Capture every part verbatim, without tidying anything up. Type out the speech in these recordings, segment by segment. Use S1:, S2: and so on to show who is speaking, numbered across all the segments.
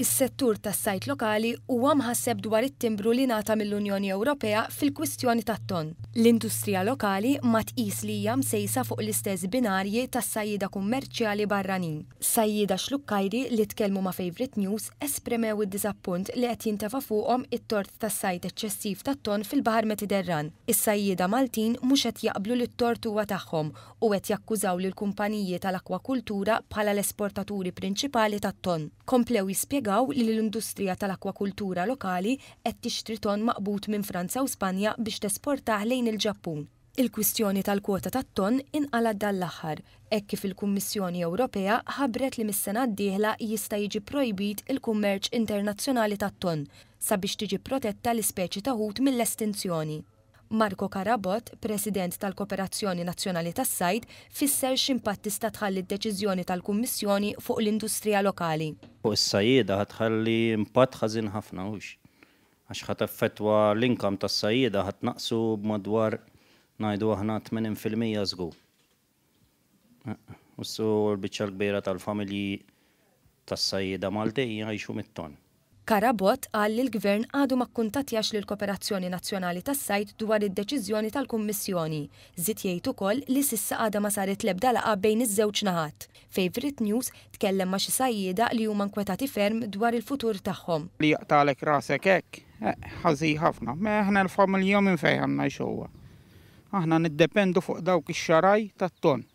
S1: Is-settur tas-sajd lokali huwa mħasseb dwar it-timbru li ngħata mill-Unjoni Ewropea fil-kwistjoni tat-ton. L-industrija lokali ma tqis li hija msejsa fuq l-istess binarji tas-sajjieda kummerċjali barranin. Sajjieda Xlukkajri li tkellmu ma' Favourite News esprimew id-diżappunt li qed jintefa' fuqhom it-tort tas-sajd eċċessiv tat-ton fil-Baħar Mediterran. Is-sajjieda Maltin mhux qed jaqblu li t-tort huwa tagħhom u qed jakkużaw lil kumpaniji tal-akwakultura bħala l-esportaturi prinċipali tat-ton. Komplew jispjegaw li l-industrija tal-akwakultura lokali qed tixtri ton maqbud minn Franza u Spanja biex tesportah lejn il-Ġappun. Il-kwistjoni tal-kwota tat-ton inqalgħet dan l-aħħar, hekk kif il-Kummissjoni Ewropea ħabbret li mis-sena d-dieħla jista' jiġi projbit il-kummerċ internazzjonali tat-ton sabiex tiġi protetta l-ispeċi ta' ħut mill-estinzjoni. Marco Carabott, President tal-Kooperazzjoni Nazzjonali tas-Sajd, fisser x'impatt tista' tħalli d-deċiżjoni tal-Kummissjoni fuq l-industrija lokali.
S2: Fuq is-sajjieda ħa tħalli impatt ħażin ħafna hux. Għax ħa teffettwa l-income tas-sajjieda, ħa tnaqqsu b'madwar, ngħidu aħna, tmenin fil-mija żgur. Ussu l-biċċa l-kbira tal-familji tas-sajjieda Maltin jgħixu mit-ton.
S1: Carabott qal li l-Gvern għadu ma kkuntattjax lil Kooperazzjoni Nazzjonali tas-Sajd dwar id-deċiżjoni tal-Kummissjoni. Żied jgħid ukoll li s'issa għadha ma saret l-ebda laqgħa bejn iż-żewġ naħat. Favourite News tkellem ma' xi sajjieda li huma nkwetati ferm dwar il-futur tagħhom.
S3: Li jaqtagħlek rasek hekk, eh, ħażin ħafna. Ma aħna l-familja minn fejn għandna xogħol? Aħna niddependu fuq dawk ix-xaraj tat-ton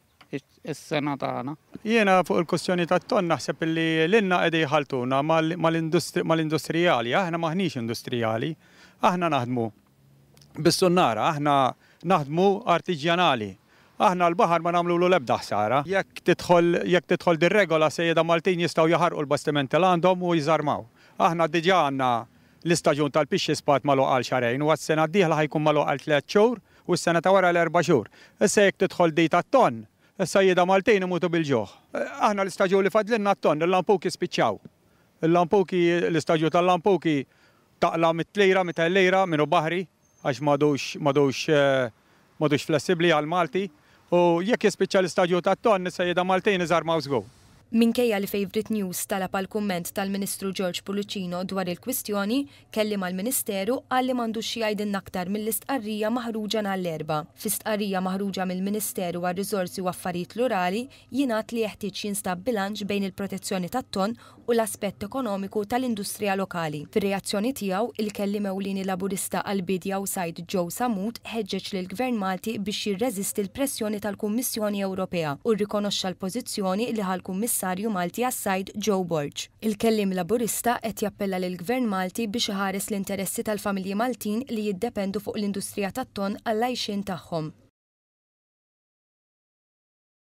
S3: is-sena tagħna.
S4: Jiena fuq il-kwestjoni tat-ton naħseb li lilna qegħdin jħaltuna mal-industrijali, aħna maħniex industrijali, aħna naħdmu bis-sunnara, aħna naħdmu artiġjanali. Aħna l-baħar ma nagħmlu l-ebda ħsara. Jekk tidħol jekk tidħol dir-regola, sajjieda Maltin jistgħu jaħarqu l-bastimenti l għandhom u jiżarmaw. Aħna diġà għandna l-istaġun tal-pixxi spat magħluq għal xahrejn u għas-sena d-dieħla ħa jkun magħluq għal tliet xhur u s-sena ta' wara l-erba' xhur. Issa jekk tidħol di tat-ton, is-sajjieda Maltin imutu bil-ġuħ. Aħna l-istaġun li fadlilna t-ton, il-lampuki spiċċaw. Il-lampuki, l-istaġun tal-lampuki taqla' mitt lira, mitejn lira, minnu baħri, għax m'għadux, m'għadux, m'għadux flessibli għal-Malti. U jekk jispiċċa l-istaġun tat-ton, is-sajjieda Maltin iżarmaw żgur.
S1: Minkejja li Favourite News talab għal kumment tal-Ministru George Pullicino dwar il-kwistjoni, kelliem għall-Ministeru qal li m'għandux xi jgħidilna aktar mill-istqarrija maħruġa nhar l-Erbgħa. Fi stqarrija maħruġa mill-Ministeru għar-Riżorsi u Affarijiet Rurali jingħad li jeħtieġ jinstab bilanċ bejn il-protezzjoni tat-ton u l-aspett ekonomiku tal-industrija lokali. Fir-reazzjoni tiegħu, il-kelliem ewlieni Laburista għall-Bidja u Sajd Joe Sammut ħeġġeġ lill-Gvern Malti biex jirreżisti l-pressjoni tal-Kummissjoni Ewropea u rrikonoxxa l-pożizzjoni li ħa l-Kummissarju Malti għas-Sajd Joe Borg. Il-kelliem Laburista qed jappella lill-Gvern Malti biex iħares l-interessi tal-familji Maltin li jiddependu fuq l-industrija tat-ton għall-għajxien tagħhom.